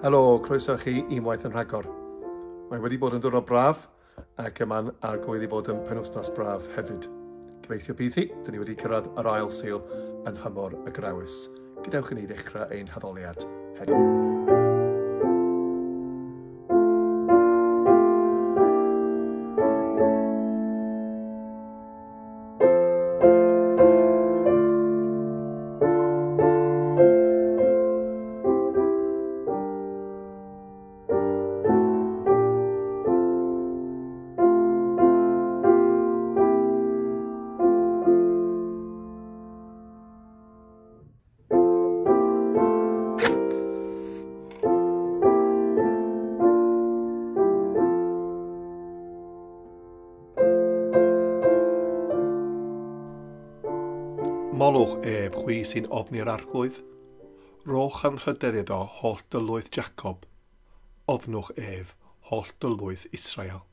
Helo, croeso chi unwaith yn rhagor. Mae wedi bod yn diwrnod braf ac yma'n argoel i fod yn penwythnos braf hefyd. Gobeithio bydd hi, dyn ni wedi cyrraedd yr ail Sul yn nhymor y Grawys. Gadewch i ni ddechrau ein haddoliad heddiw. Molwch ef, chwi sy'n ofni'r Arglwydd. Rhowch anrhydedd iddo holl dylwyth Jacob. Ofnwch ef, holl dylwyth Israel.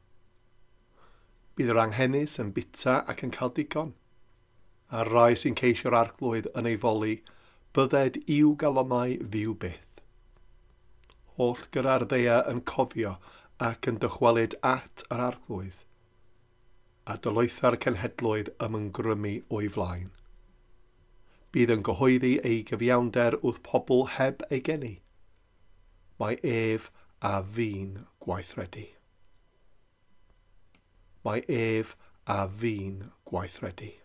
Bydd yr anghenus yn bita ac yn cael digon. A'r rai sy'n ceisio'r Arglwydd yn ei foli, bydded i'w galonnau fyw byth. Holl gyda'r ddaear yn cofio ac yn dychwelyd at yr Arglwydd, a dylwytha'r cenhedloedd ymgrymu o'i flaen. Bydd yn gyhoeddi ei gyfiawnder wrth pobl heb ei geni. Mae ef a fi'n gweithredu. Mae ef a fi'n gweithredu.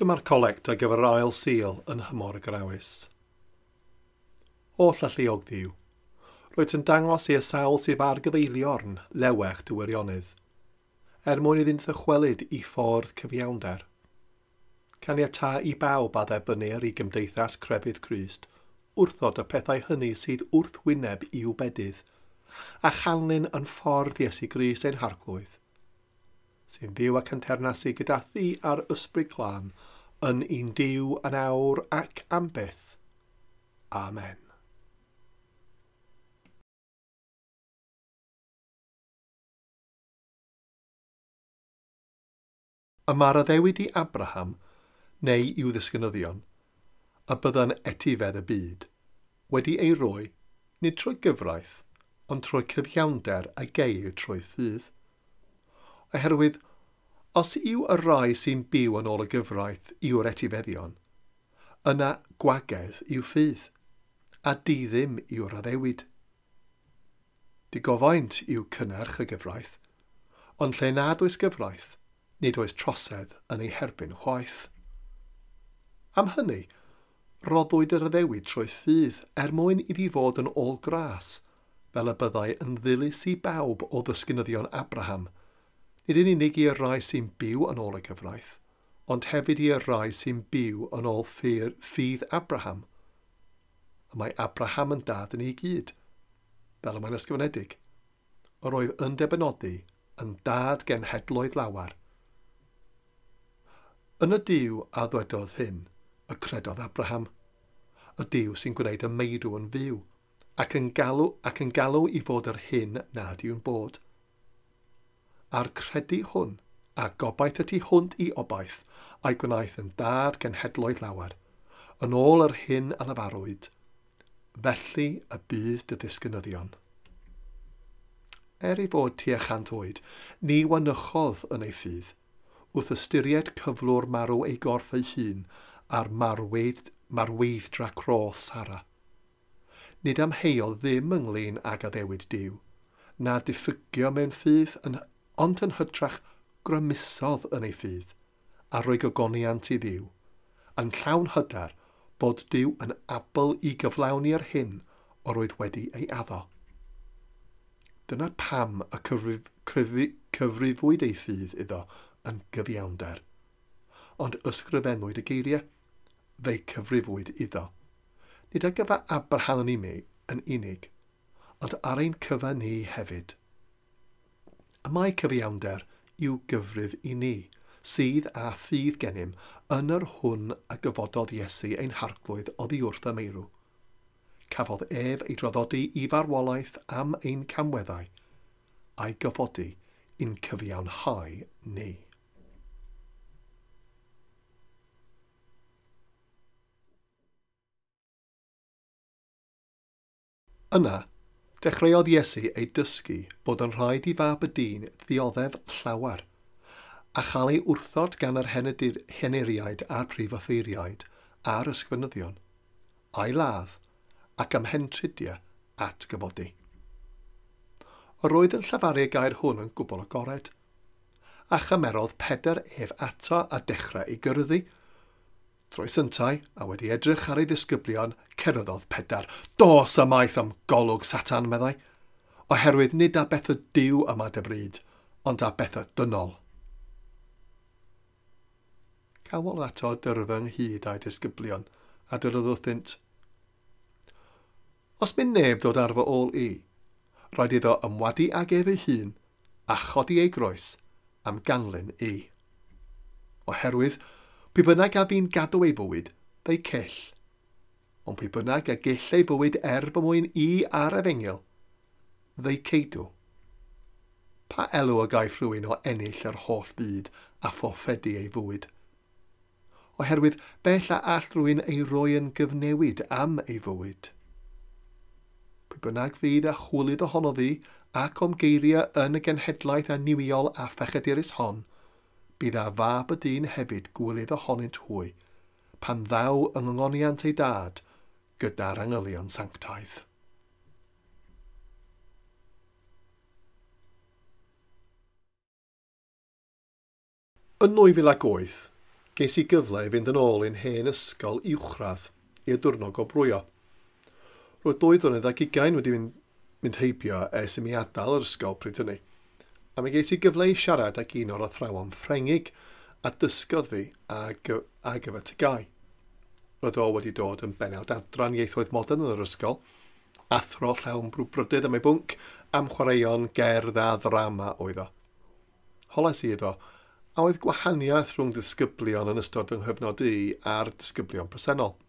Dyma'r colect ar gyfer yr ail Sul yn nhymor y Grawys. Holl alluog Dduw, rwyt yn dangos i'r sawl sydd ar gyfeiliorn lewech dy wirionedd, er mwyn iddynt ddychwelyd i ffordd cyfiawnder. Caniatâ i bawb a dderbynnir i gymdeithas crefydd Crist wrthod y pethau hynny sydd wrthwyneb i'w bedydd, a chanlyn yn ffordd Iesu Grist ein Harglwydd, sy'n fyw ac yn teyrnasu gyda thi a'r Ysbryd Glân, yn un Duw yn awr ac am byth. Amen. Y mae'r addewid i Abraham, neu i'w ddisgynyddion, a bydda'n etifedd y byd, wedi ei roi, nid trwy gyfraith, ond trwy cyfiawnder a geir trwy ffydd. Oherwydd, os yw y rhai sy'n byw yn ôl y gyfraith yw'r etifeddion, yna gwagedd yw ffydd, a diddim yw'r addewid. Digofaint yw cynnyrch y gyfraith, ond lle nad oes gyfraith, nid oes trosedd yn ei herbyn chwaith. Am hynny, roddwyd yr addewid trwy ffydd er mwyn iddi fod yn ôl gras, fel y byddai yn ddilys i bawb o ddisgynyddion Abraham, nid yn unig i'r rhai sy'n byw yn ôl y gyfraith, ond hefyd i'r rhai sy'n byw yn ôl ffydd Abraham. Y mae Abraham yn dad yn ei gyd, fel y mae'n ysgrifenedig. Yr oedd yn debynodi yn dad genhedloedd lawer. Yn y Duw a ddwedodd hyn, y credodd Abraham, y Duw sy'n gwneud y meirw yn fyw, ac yn galw i fod yr hyn nad yw'n bod. A'r credu hwn, a gobaith y tu hwnt i obaith, a'i gwnaeth yn dad genhedloedd lawer, yn ôl yr hyn a lefarwyd, felly y bydd dy ddisgynyddion. Er ei fod tua 100 oed, ni wanychodd yn ei ffydd, wrth ystyried cyflwr marw ei gorff ei hun a'r marweidd-dra croth Sara. Nid amheuodd ddim ynglyn ag addewid Duw, na diffygio mewn ffydd, ond yn hytrach grymusodd yn ei ffydd, a rhoi gogoniant i Dduw, yn llawn hyder bod Duw yn abl i gyflawni'r hyn yr oedd wedi ei addo. Dyna pam y cyfrifwyd ei ffydd iddo yn gyfiawnder. Ond ysgrifennwyd y geiriau, fe'i cyfrifwyd iddo. Nid ar gyfer Abraham yn unig, ond ar ein cyfer ni hefyd. Y mae cyfiawnder i'w gyfrif i ni, sydd â ffydd gennym yn yr hwn a gyfododd Iesu ein harglwydd oddi wrth y meirw. Cafodd ef ei draddodi i farwolaeth am ein camweddau, a'i gyfodi i'n cyfiawnhau ni. Yna, dechreuodd Iesu ei dysgu bod yn rhaid i fab y dyn ddioddef llawer, a chael ei wrthod gan yr henuriaid a'r prif offeiriaid a'r ysgrifenyddion, a'i ladd ac ymhentridiau atgyfodi. Yr oedd yn llefaru y gair hwn yn gwbl agored, a chymerodd Pedr ef ato a dechrau ei gyrrddu. Troes yntau, a wedi edrych ar ei ddisgyblion, ceryddodd Pedr. Dos ymaith am golwg Satan, meddai, oherwydd nid â beth y Duw yma dy fryd, ond â beth y dynol. Cawodd ato dyrfa ynghyd â'i ddisgyblion, a dyrodd wrthynt, Os mynd neb ddod ar fy ôl i, rhaid iddo ymwadu ag ef ei hun a chodi ei groes am ganlyn i. Oherwydd, pwy bynnag a fi'n gadw ei fywyd, fe'i cell. Ond pwy bynnag a gell ei fywyd er fy mwyn i a'r efengyl, fe'i ceidw. Pa elw a gaiff rhywun o ennill yr holl fyd a fforffedu ei fywyd? Oherwydd, bell a all rhywun ei roi yn gyfnewid am ei fywyd. Pwy bynnag fydd a chwilydd ohono fi ac o'm geiriau yn y genhedlaeth annuwiol a phechadurus hon, bydd a fab y dyn hefyd gwilydd ohonynt hwy, pan ddaw yng ngoniant ei dad gyda'r angylion sanctaidd. Yn 2008, ges i gyfle i fynd yn ôl i'n hen ysgol uwchradd i'r diwrnod gwobrwyo. Roedd 22 wedi mynd heibio ers i mi adael yr ysgol pryd hynny, a mi ges i gyfle i siarad ag un o'r athrawon Ffrengig a dysgodd fi ar gyfer TGAU. Roedd o wedi dod yn bennawd adran ieithoedd modern yn yr ysgol, athro llawn brwdfrydydd am ei bwnc, am chwaraeon, gerdd a ddrama oedd o. Holais i iddo, a oedd gwahaniaeth rhwng disgyblion yn ystod fy nghyfnod i a'r disgyblion presennol.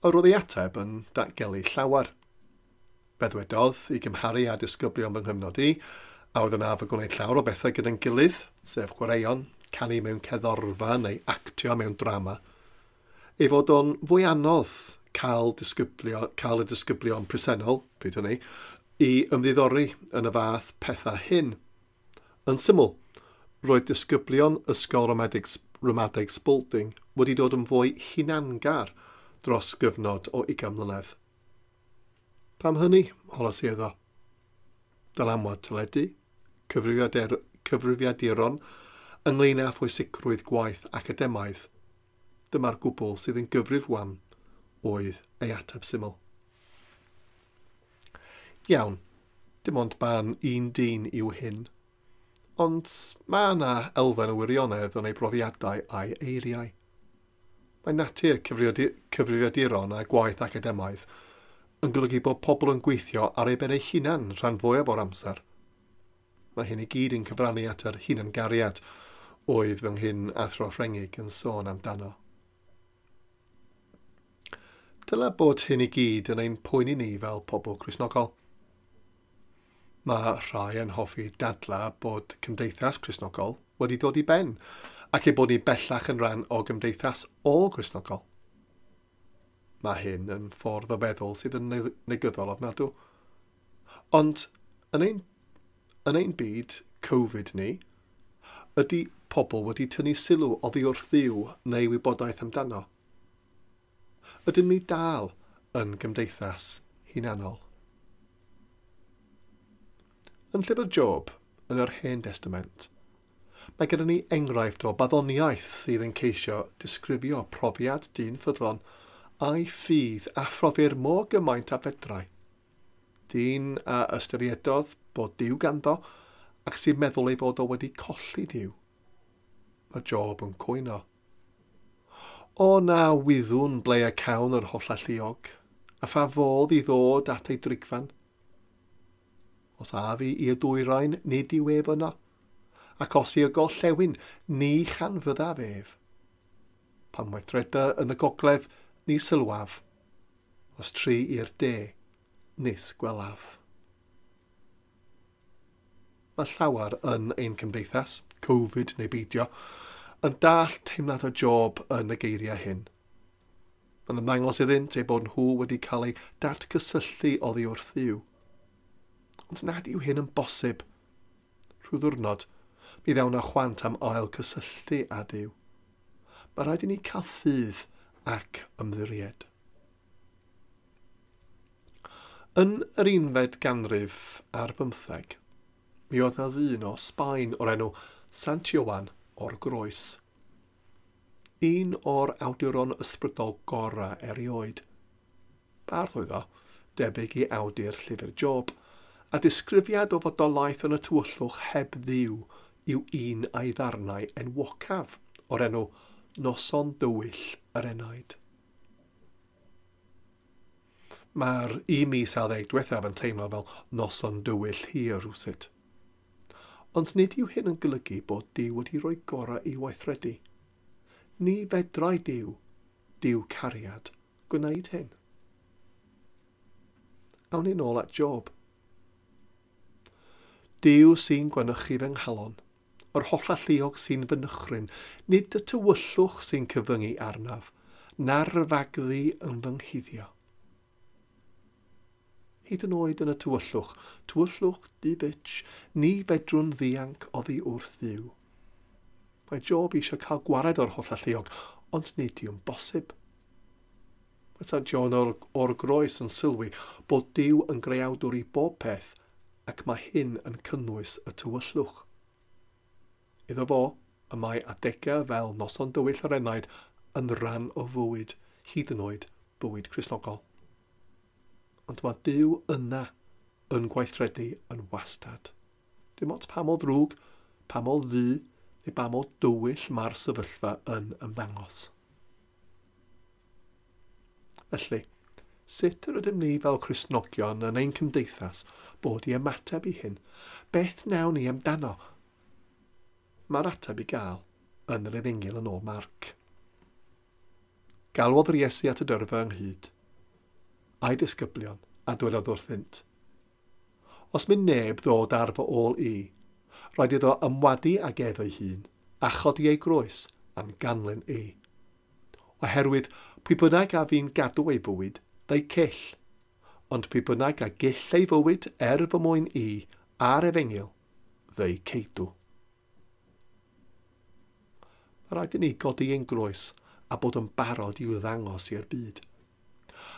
Yr oedd ei ateb yn datgelu llawer. Fe ddwedodd i gymharu â disgyblion fy nghyfnod i, a oedd yn arfer gwneud llawer o bethau gyda'n gilydd, sef chwaraeon, canu mewn cerddorfa neu actio mewn drama, ei fod o'n fwy anodd cael y disgyblion presennol, pryd hynny, i ymddiddori yn y fath pethau hyn. Yn syml, roedd disgyblion Ysgol Ramadeg Spalding wedi dod yn fwy hunangar dros gyfnod o 20 mlynedd. Pam hynny, holas i iddo. Dylanwad teledu, cyfrifiaduron, ynglyn â phwysigrwydd gwaith academaidd. Dyma'r gwbl sydd yn gyfrif wan oedd ei ateb syml. Iawn, dim ond barn un dyn yw hyn, ond mae yna elfen o wirionedd yn ei brofiadau a'i eiriau. Mae natur cyfrifiaduron a gwaith academaidd yn golygu bod pobl yn gweithio ar ei ben eu hunan rhan fwyaf o'r amser. Mae hyn i gyd yn cyfrannu at yr hunangariad oedd fy nghyn athro Ffrengig yn sôn amdano. Dyla bod hyn i gyd yn ein poeni ni fel pobl Cristnogol. Mae rhai yn hoffi dadla bod cymdeithas Cristnogol wedi dod i ben ac ei bod ni bellach yn rhan o gymdeithas ôl-Gristnogol. Mae hyn yn ffordd o feddwl sydd yn negyddol ofnadw. Ond yn ein byd Covid ni, ydy pobl wedi tynnu sylw oddi wrth Dduw neu wybodaeth amdano? Ydym ni dal yn gymdeithas hunanol? Yn llyfr Job, yn yr Hen Testament, mae gyda ni enghraifft o baddoniaeth sydd yn ceisio disgrifio profiad dyn ffyddlon a'i ffydd a phrofir mor gymaint a fedrai. Dyn a ystyriedodd bod Duw ganddo ac sy'n meddwl ei fod o wedi colli Duw. Mae Job yn cwyno. O na wyddwn ble y cawn yr holl alluog, a pha fodd i ddod at ei drigfan. Os af i i'r dwyrain, nid yw ef yno, ac os i'r gorllewin, ni chanfyddaf ef. Pan weithreda yn y gogledd, ni sylwaf. Os tri i'r de, nis gwelaf. Mae llawer yn ein cymdeithas, Covid neu beidio, yn dall teimlad o Job yn y geiriau hyn. Mae'n ymddangos iddynt eu bod nhw wedi cael eu datgysylltu oddi wrth Dduw. Ond nad yw hyn yn bosib. Rhyw ddiwrnod, mi ddawn â chwant am ail cysylltu â Duw. Mae rhaid i ni cael ffydd ac ymddiried. Yn yr 11eg ganrif ar bymtheg, mi oedd 'na ddyn o Sbaen o'r enw Sant Ioan o'r Groes. Un o'r awduron ysbrydol gorau erioed. Bardd oedd o, debyg i awdur llyfr Job, a disgrifiad o fodolaeth yn y tywyllwch heb Dduw yw un a'i ddarnau enwocaf o'r enw Noson Dywyll yr Enaid. Mae'r 1 mis a 10 diwethaf yn teimlo fel noson dywyll hir rhywsut. Ond nid yw hyn yn golygu bod Duw wedi rhoi gorau i weithredu. Ni fedrai Duw, Duw cariad, gwneud hyn. Awn ni nôl at Job. Duw sy'n gwanychu fy nghalon, yr hollalluog sy'n fy nychryn, nid y tywyllwch sy'n cyfyngu arnaf, na'r fagddu yn fy nghuddio. Hyd yn oed yn y tywyllwch, tywyllwch du-bitch, ni fedrwn ddianc oddi wrth Dduw. Mae Job eisiau cael gwared o'r hollalluog, ond nid yw'n bosib. Mae Sant Ioan o'r Groes yn sylwi bod Duw yn greawdwr i bob peth, ac mae hyn yn cynnwys y tywyllwch. Iddo fo, y mae adegau fel noson dywyll yr enaid yn rhan o fywyd, hyd yn oed bywyd Cristnogol. Ond mae Duw yna yn gweithredu yn wastad. Dim ots pa mor ddrwg, pa mor ddu, neu pa mor dywyll mae'r sefyllfa yn ymddangos. Felly, sut yr ydym ni fel Cristnogion yn ein cymdeithas bod i ymateb i hyn? Beth wnawn ni amdano? Mae'r ateb i gael yn yr Efengyl yn ôl Marc. Galwodd yr Iesu at y dyrfa ynghyd, a'i disgyblion, a dwedodd wrthynt, Os mynd neb ddod ar fy ôl i, rhaid iddo ymwadu ag ef ei hun, a chodi ei groes am ganlyn i. Oherwydd pwy bynnag a fi'n gadw ei fywyd, fe'i cyll, ond pwy bynnag a gyll ei fywyd er fy mwyn i a'r efengyl, fe'i ceidw. Mae rhaid i ni godi ein groes a bod yn barod i'w ddangos i'r byd.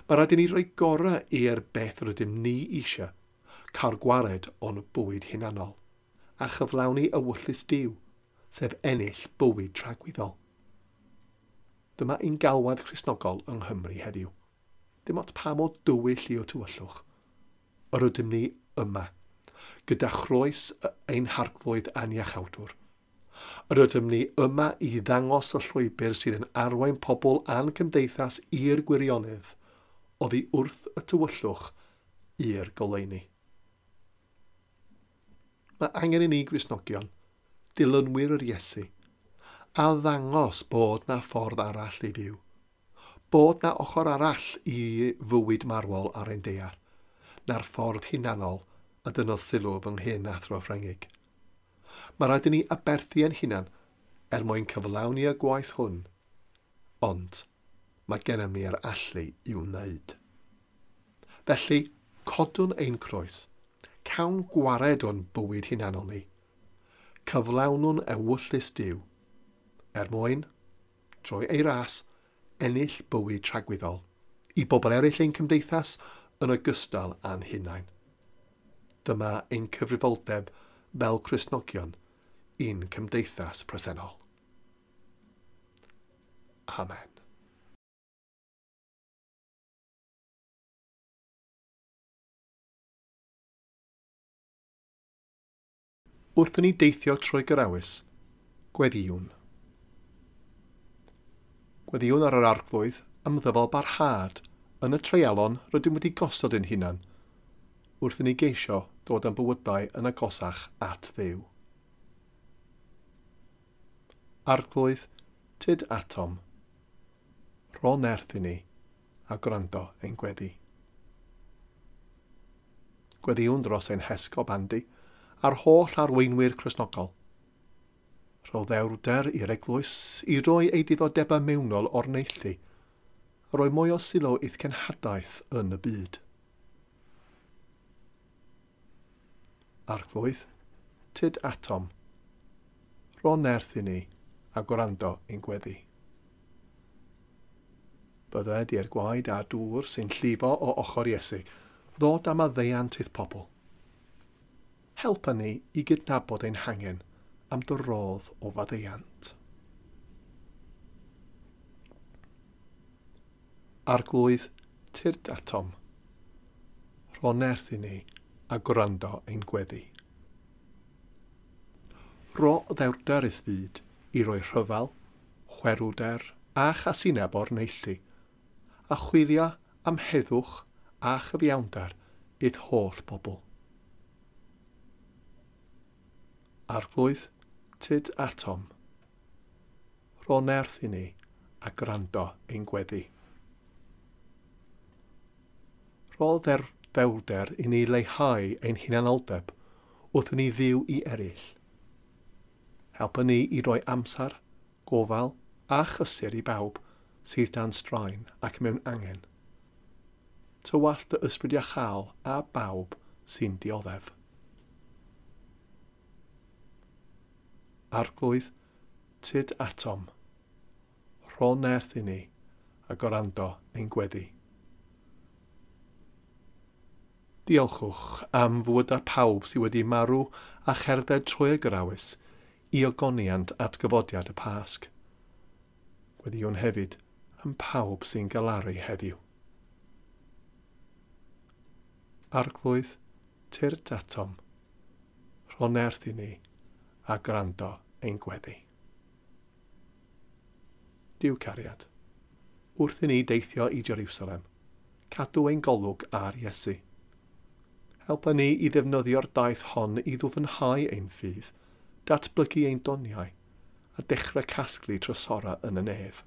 Mae rhaid i ni roi gorau i'r beth rydym ni eisiau, cael gwared o'n bywyd hunanol, a chyflawni ewyllys Duw, sef ennill bywyd tragwyddol. Dyma ein galwad Cristnogol yng Nghymru heddiw. Dim ots pa mor dywyll yw tywyllwch. Yr ydym ni yma, gyda chroes ein harglwydd a'n iachawdwr. Yr ydym ni yma i ddangos y llwybr sydd yn arwain pobl a'n cymdeithas i'r gwirionedd, oddi wrth y tywyllwch i'r goleuni. Mae angen i ni Gristnogion, dilynwyr yr Iesu, A ddangos bod na ffordd arall i fyw. Bod na ochr arall i fywyd marwol ar ein daear, na'r ffordd hunanol a dynodd sylw fy nghyn athro Ffrengig. Mae rhaid i ni aberthu ein hunan er mwyn cyflawni y gwaith hwn, ond mae gennym ni'r allu i'w wneud. Felly, codwn ein croes, cawn gwared o'n bywyd hunanol ni, cyflawnwn ewyllys Duw, er mwyn, trwy ei ras, ennill bywyd tragwyddol, i bobl eraill ein cymdeithas yn ogystal â'n hunain. Dyma ein cyfrifoldeb fel Cristnogion i'n cymdeithas presennol. Amen. Wrth i ni deithio trwy Gyrawys, gweddïwn. Gweddïwn ar yr Arglwydd am ddyfal barhad yn y treialon rydym wedi gosod ein hunan, wrth i ni geisio dod â'n bywydau yn agosach at Dduw. Arglwydd, tyd atom. Rho nerth i ni a gwrando ein gweddi. Gweddïwn dros ein hesgob Andy a'r holl arweinwyr Cristnogol. Rho ddewrder i'r eglwys i roi ei diddordebau mewnol o'r neilltu, a roi mwy o sylw i'th cenhadaeth yn y byd. Arglwydd, tyd atom. Rho nerth i ni a gwrando ein gweddi. Bydded i'r gwaed a dŵr sy'n llifo o ochr Iesu ddod am maddeuant i'th pobl. Helpa ni i gydnabod ein hangen am dy rodd o faddeuant. Arglwydd, tyrd atom. Rho nerth i ni a gwrando ein gweddi. Rho ddewrder i'th fyd i roi rhyfel, chwerwder a chasineb o'r neilltu, a chwilio am heddwch a chyfiawnder i'th holl bobl. Arglwydd, tyd atom. Rho nerth i ni a gwrando ein gweddi. Rho ddewrder i ni leihau ein hunanoldeb wrth i ni fyw i eraill. Helpa ni i roi amser, gofal a chysur i bawb sydd dan straen ac mewn angen. Tywallt dy ysbryd iachâol a bawb sy'n dioddef. Arglwydd, tyd atom. Rho nerth i ni a gwrando ein gweddi. Diolchwch am fywydau pawb sydd wedi marw a cherdded trwy y Gyrawys i ogoniant atgyfodiad y Pasg. Gweddïwn hefyd am pawb sy'n galaru heddiw. Arglwydd, tyrd atom. Rho nerth i ni a gwrando ein gweddi. Duw cariad, wrth i ni deithio i Jerusalem, cadw ein golwg ar Iesu. Helpa ni i ddefnyddio'r daith hon i ddwfnhau ein ffydd, datblygu ein doniau, a dechrau casglu trysorau yn y nef.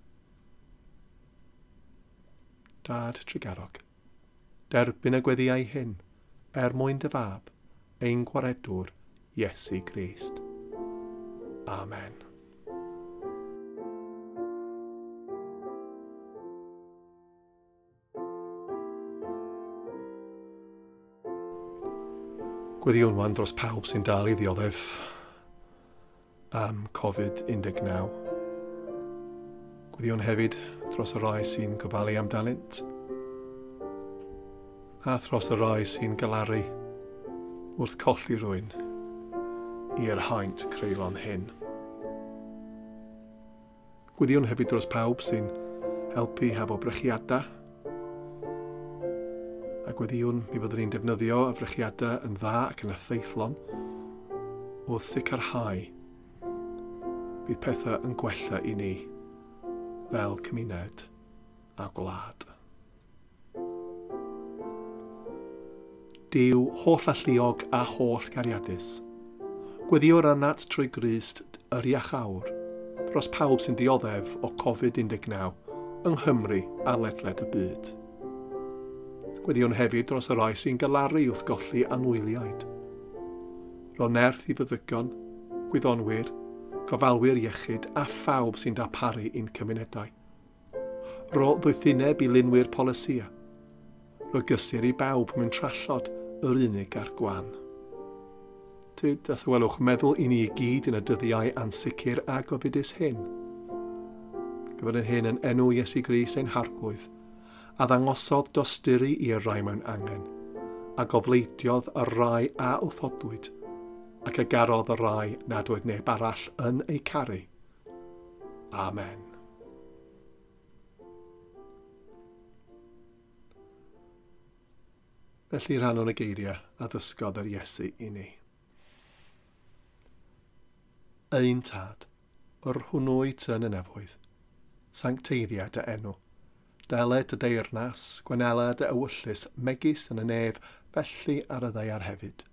Dad trugarog, derbyn y gweddïau hyn, er mwyn dy fab, ein gwaredwr, Iesu Grist. Amen. Gweddïwn wan dros pawb sy'n dal i ddioddef am Covid-19. Gweddïwn hefyd dros y rai sy'n gofalu amdanynt, a thros y rai sy'n galaru wrth colli rhywun i'r haint creulon hyn. Gweddïwn hefyd dros pawb sy'n helpu hefo brechiadau, a gweddïwn mi fyddwn ni'n defnyddio y brechiadau yn dda ac yn effeithlon wrth sicrhau bydd pethau yn gwella i ni fel cymuned a gwlad. Duw holl alluog a holl gariadus, gweddïwr arnat trwy Grist yr iachawr, dros pawb sy'n dioddef o Covid-19 yng Nghymru a ledled y byd. Gweddïwn hefyd dros y rhai sy'n galaru wrth golli anwyliaid. Rho nerth i feddygon, gwyddonwyr, gofalwyr iechyd a phawb sy'n darparu i'n cymunedau. Rho ddoethineb i lunwyr polisïau. Rho gysur i bawb mewn trallod yr unig a'r gwan. Tyd a thawelwch meddwl i ni i gyd yn y dyddiau ansicr a gofidus hyn. Gyfer yn hyn yn enw Iesu Grist ein Harglwydd, a ddangosodd dosturi i'r rai mewn angen, a gofleidiodd y rai a wrthodwyd, ac a garodd y rai nad oedd neb arall yn eu caru. Amen. Felly rhannwn y geiriau a ddysgodd yr Iesu i ni. Ein Tad, yr hwnnw wyt yn y nefoedd, sancteiddia dy enw, dele dy deyrnas, gwenela dy ewyllys, megis yn y nef, felly ar y ddaear hefyd.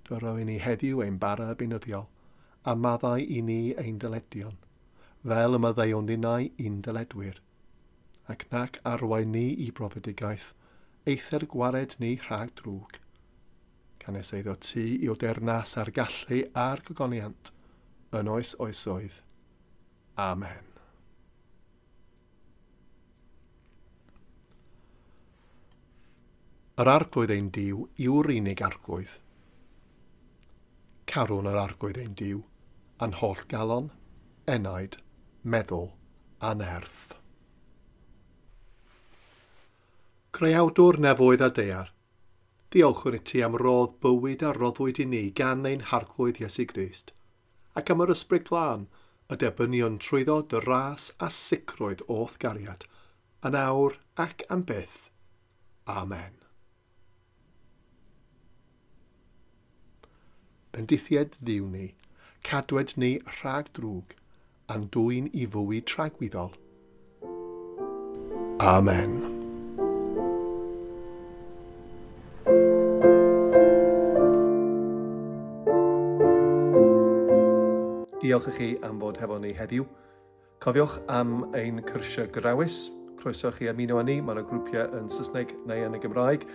Dyro i ni heddiw ein bara beunyddiol, a maddau i ni ein dyledion, fel y maddeuwn ninnau i'n dyledwyr. Ac nac arwain ni i brofedigaeth, eithr gwared ni rhag drwg. Canys eiddo ti i'w deyrnas a'r gallu a'r gogoniant, yn oes oesoedd. Amen. Yr Arglwydd ein Duw yw'r unig Arglwydd. Carwn yr Arglwydd ein Duw, a'n holl galon, enaid, meddwl a nerth. Creawdwr nefoedd a daear, diolchwn i ti am rodd bywyd a roddwyd i ni gan ein Harglwydd Iesu Grist, ac am yr Ysbryd Glân, y derbynion trwyddo dy ras a sicrwydd o'th gariad, yn awr ac am byth. Amen. Bendithied Dduw ni, cadwed ni rhag drwg, a'n dwyn i fywyd tragwyddol. Amen. Diolch i chi am fod hefo ni heddiw. Cofiwch am ein cyrsiau grawys. Croeso chi ymuno â ni. Mae yna grwpiau yn Saesneg neu yn y Gymraeg.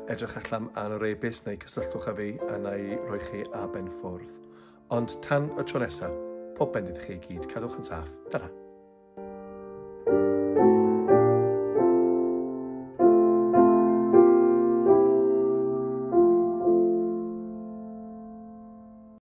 Edrych allan ar yr e-byst neu cysylltwch â fi a na i roi chi ar ben ffwrdd. Ond tan y tro nesaf, pob bendith i chi i gyd. Cadwch yn saff. Tara.